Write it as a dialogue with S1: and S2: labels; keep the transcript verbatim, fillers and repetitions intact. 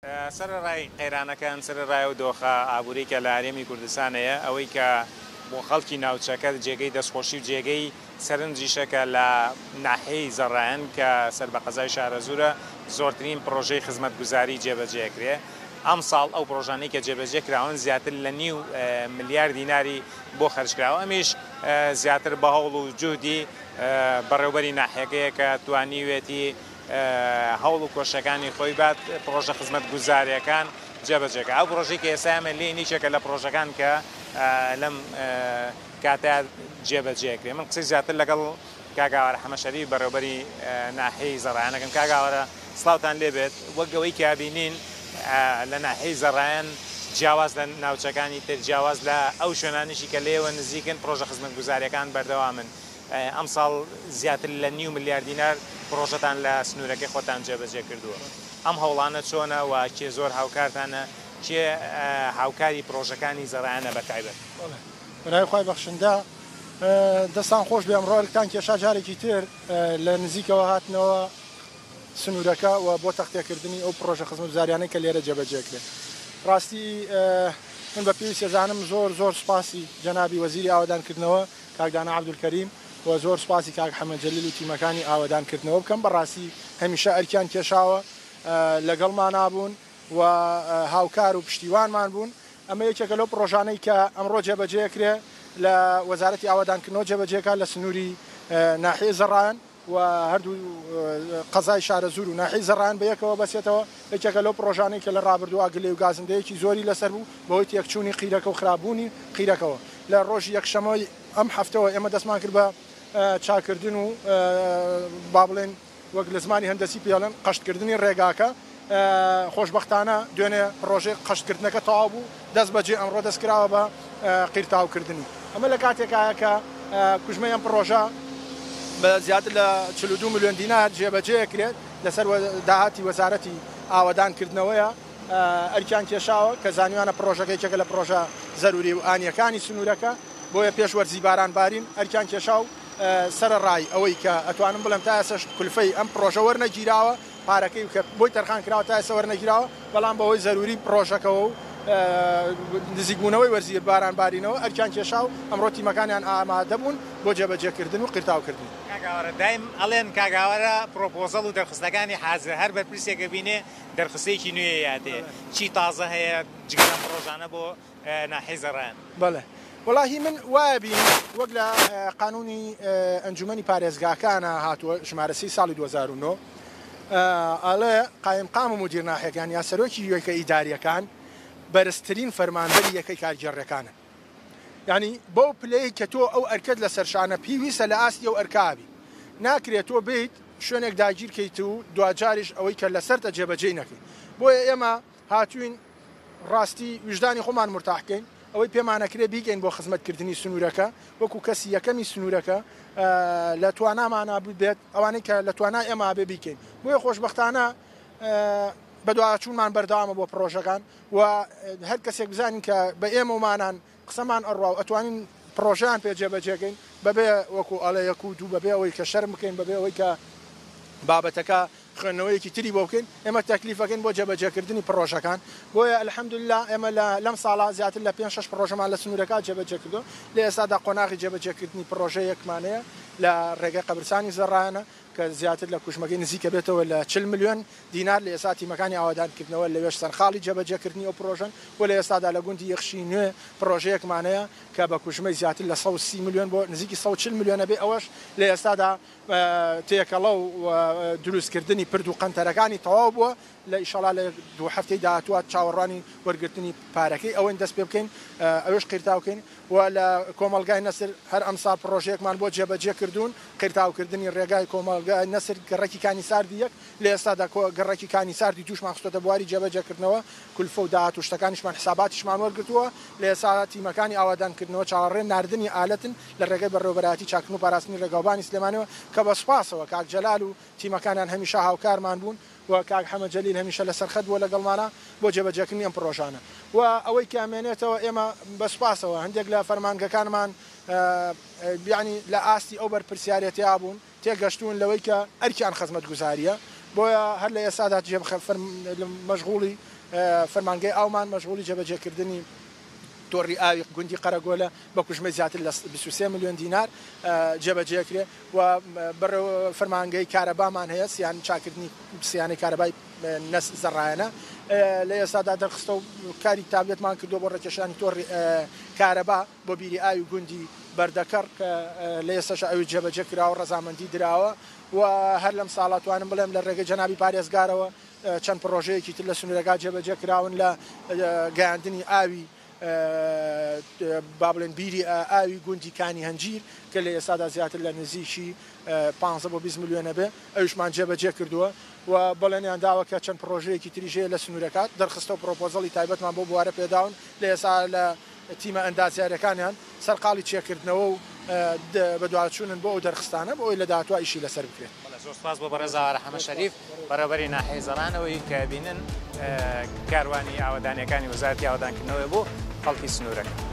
S1: سەرەڕای قەیرانەکان، سەرەڕای ئەو دۆخە ئابووری کە لە هەرێمی کوردستان هەیە، ئەوەی کە بۆ خەڵکی ناوچەکە جێگەی دەستخۆشی و جێگەی سەرنجیشە کە لە ناحیەی زەڕایەن کە سەر بە قەزای شارەزوورە زۆرترین پرۆژەی خزمەتگوزاری جێبەجێکرێ. ئەمساڵ ئەو پرۆژانەی کە جێبەجێ کراون زیاتر لە نیو ملیار دیناری بۆ خەرج کراوە، ئەمیش زیاتر بە هەوڵ و جوهدی بەڕێوبەری ناحیەکەیە کە توانیوێتی هەوڵ و کۆشەکانی خۆی بات پرۆژە خزمەتگوزاریەکان جێبەجێکە. ئەو پرۆژەی کە ئێستا ئێمە لێین یەکێکە لە پرۆژەکان کە لەم کاتە جێبەجێکرێ. من قسەی زیاتر لەگەڵ کاک ئاوارە حەمە شەریف بەڕێوبەری ناحیەی زەڕایەنەکەم. کاک ئاوارە سڵاوتان لێبێت. وەک ئەوەی کە بینین لە ناحیەی زەڕایەن جیاواز لە ناوچەکانی تر، جیاواز لە ئەو شوێنانیشی کە لێوە نزیکن، پرۆژە خزمەتگوزاریەکان بەردەوامن. ئەمساڵ زیاتر لە نیو ملیار دینار پرۆژەتان لە سنوورەکەی خۆتان جێبەجێ کردووە. ئەم هەوڵانە چۆنە و کێ زۆر هاوکارتانە، کێ هاوکاری پرۆژەکانی زەڕایەنە بە تایبەت؟
S2: بەناوی خوای بەخشندە دەستان خۆش بێ. ئەمڕۆ ئەرکتان کێشا جارێکی تر لە نزیکەوە هاتنەوە سنوورەکە و بۆ تەختێکردنی ئەو پرۆژە خزمەتگوزاریانەی کە لێرە جێبەجێکرێت. ڕاستی من بە پێویست ئەزانم زۆر زۆر سوپاسی جەنابی وەزیری ئاوەدانکردنەوە کاک دانا عەبدولکەریم و زۆر سوپاسی کاک حەمە جەلیل و تیمەکانی ئاوەدانکردنەوە بکەم. بەڕاستی هەمیشە ئەرکیان کێشاوە، لەگەڵمانا بوون و هاوکار و پشتیوانمان بوون. ئەمە یەکێکە لەو پرۆژانەی کە ئەمڕۆ جێبەجێکرێ لە وەزارەتی ئاوەدانکردنەوە جێبەجێکا لە سنووری ناحیەی زەڕایەن و هەردوو قەزای شارەزوور و ناحیەی زەڕایەن بەیەکەوە بەسێتەوە. یەکێکە لەو پرۆژانەی کە لە ڕابردووە گلەی و گازندەیەکی زۆری لەسەر بوو بەهۆی تێکچوونی قیرەکە و خراپبوونی قیرەکەوە. لە ڕۆژی یەکشەمەی ئەم هەفتەوە ئێمە دەستمان کرد بە چاکردن و با بڵێن وەک لە زمانی هەندەسی پێڵێن قەشتکردنی ڕێگاکە. خۆشبەختانە دوێنێ پرۆژەی قەشتکردنەکە تەواو بوو، دەست بەجێ ئەمڕۆ دەست کراوە بە قیرتاوکردنی. ئەمە لە کاتێکایە کە کوژمەی ئەم پرۆژە بە زیاتر لە چل و دوو ملیۆن دینار جێبەجێکرێت لەسەر داهاتی وەزارەتی ئاوەدانکردنەوەیە. ئەرکیان کێشاوە کە زانیوانە پرۆژەکە یەکێکە لە پرۆژە زەروری و ئانیەکانی سنوورەکە، بۆیە پێش وەرزی باران بارین ئەرکیان کێشا و سەرەڕای ئەوەی کە ئەتوانم بڵێم تا ئێستاش کولفەی ئەم پرۆژە وەرنەگیراوە، پارەکەی کە بۆی تەرخان کراوە تا ئێستا وەرنەگیراوە، بەڵام بەهۆی زەروری پرۆژەکەوە و نزیکبوونەوەی وەرزی باران بارینەوە ئەرکیان کێشا و ئەمڕۆ تیمەکانیان ئامادە بوون بۆ جێبەجێکردن و قیرتاوکردنی.
S1: کاک ئاوارە دایم ئەڵێن کاک ئاوارە پرۆپۆزەڵ و دەرخستەکانی حازر، هەر بەرپرسێکە بینێ دەرخستەیەکی نوێ یاتێ، چی تازە هەیە جگە لەم پرۆژانە بۆ ناحیەی زەڕایەن؟
S2: بەڵێ وەڵاهی من وایە بینم وەک لە قانونی ئەنجومەنی پارێزگاکانە هاتووە ژمارە سی ساڵی دوو هەزار و نۆ ئەڵێ قایمقام و مدیر ناحیەکان یا سەرۆکی یەکە ئیداریەکان بەرزترین فەرمانبەری یەکەی کارگێڕیەکانن. یعنی بەو پلەیە کە تۆ ئەو ئەرکەت لەسەر شانە پێویستە لە ئاستی ئەو ئەرکابی. ناکرێت تۆ بیت شوێنێک داگیرکەیت و دواجاریش ئەوەی کە لەسەرتە جێبەجێی نەکەیت. بۆیە ئێمە هاتوین ڕاستی ویژدانی خۆمان مرتاح بکەین، ئەوەی پێمانەکرێ بیگەین بۆ خزمەتکردنی سنوورەکە وەکو کەسی یەکەمی سنوورەکە لە توانامانە بێت، ئەوانەی کە لە توانای ئێمە بێ بیکەین. بۆیە خۆشبەختانە بەدواچوونمان بەردەوامە بۆ پرۆژەکان و هەر کەسێک بزانین کە بە ئێمەمانان قسەمان ئەڕوا و ئەتوانین پرۆژەیان پێ جێبەجێکەین بەبێ وەکو ئەڵێ یەک و دوو، بەبێ ئەوەی کە شەرم بکەین، بەبێ ئەوەی کە بابەتەکە خوێندنەوەیەکی تری بۆ بکەین، ئێمە تەکلیفەکەین بۆ جێبەجێکردنی پرۆژەکان. بۆیە الحەمدللا ئێمە لەم ساڵا زیاتر لە پێنج شەش پرۆژەمان لە سنوورەکە جێبەجێ کردو. لە ئێستادا قۆناغی جێبەجێکردنی پرۆژەیەکمانەیە لە ڕێگەی قەبرستانی زەڕایەنە کە زیاتر لە کوژمەکەی نزیکە بێتەوە لە چل ملیۆن دینار. لە ئێستا تیمەکانی ئاوەدانکردنەوە لەوێش سەرخاڵی جێبەجێکردنی ئەو پرۆژەن و لە ئێستادا لە گوندی یەخشی نوێ پرۆژەیەکمانەیە کە بە کوژمەی زیاتر لە سەد و سی ملیۆن بۆ نزیکی سەد و چل ملیۆنە بێ. ئەوەش لە ئێستادا تێکەڵە و دروستکردنی پرد و قەنتەرەکانی تەواو بووە. لە ئیشەڵا لە دوو هەفتەی داهاتووە چاوەڕوانی وەرگرتنی پارەکەی ئەوەین دەست پێ بکەین، ئەوێش قیرتاوکەین. و لە کۆمەڵگای نەسر هەر ئەمساڵ پرۆژەیەکمان بۆ جێبەجێ کردوون، قیرتاوکردنی ڕێگای کۆمەڵگای نەسر گەڕەکی کانی ساردی یەک. لە ئێستادا گەڕەکی کانی ساردی دووشمان خستۆتە بواری جێبەجێکردنەوە، کولفە و داهات و شتەکانیشمان حساباتیشمان وەرگرتووە. لە ئێستا تیمەکانی ئاوادانکردنەوە چاوەڕێ ناردنی ئالەتن لە ڕێگەی بەڕێوەبەرایەتی چاکردن و پاراستنی ڕێگاوبانی سلێمانیەوە کە بە سوپاسەوە کاک جەلال و تیمەکانیان هەمیشە هاوکارمان بوون و کاک حەمە جەلیل هەمیشە لەسەر خەت بووە لەگەڵمانە بۆ جێبەجێکردنی ئەم پرۆژانە. و ئەوەی کە ئەمێنێتەوە ئێمە بە سوپاسەوە هەندێک لە فەرمانگەکانمان یعنی لە ئاستی ئەو بەرپرسیارێتیا بوون، تێگەشتون لەوەی کە ئەرکیان خزمەتگوزاریە، بۆیە هەر لە ئێستادا مەشغوڵی فەرمانگەی ئاومان مەشغوڵی جێبەجێکردنی تۆڕی ئاوی گوندی قەرەگۆلە بە کوژمەی زیاتر لە بیست و سێ ملیۆن دینار جێبەجێکرێ و فەرمانگەی کارەبامان هەیە سیان چاکردنی سیانەی کارەبای نەس زەڕایەنە لە ئێستادا دەرخستە و کاری تابلێتمان کردو بۆ ڕێکێشانی تۆڕی کارەبا بۆ بیری ئاوی گوندی بەردەکەڕ کە لە ئێستاش ئەوی جێبەجێ کراوە ڕەزامەندی دراوە و هەر لەم ساڵە توانم بڵێم لە ڕێگەی جەنابی پارێزگارەوە چەند پرۆژەیەکی تر لە سنوورەکە جێبەجێ کراون لە گەیاندنی ئاوی با بڵێن بیری ئاوی گوندی کانی هەنجیر کە لە ئێستادا زیاتر لە نزیکی پانزە بۆ بیست ملیۆنە بێ ئەویشمان جێبەجێ کردووە و بەڵێنیان داوە کە چەند پرۆژەیەکی تریش هەیە لە سنوورەکات دەرخستە و پرۆپۆزەڵی تایبەتمان بۆ بوارە پێداون لە ئێستا لە تیمە ئەندازیارەکانیان سەرقاڵی چێکردنەوە و بەدواچوونن بۆ ئەو دەرخستانە بۆ ئەوی لە داهاتوە ئیشی لەسەر بکرێت.
S1: زۆر سپاس بۆ بەڕێز ئاوارە حەمە شەریف بەڕێوەبەری ناحیەی زەڕانەوەی کە بینن کاروانی ئاوەدانیەکانی وەزارەتی ئاوەدانکردنەوەی بۆ خەڵکی سنوورەکە.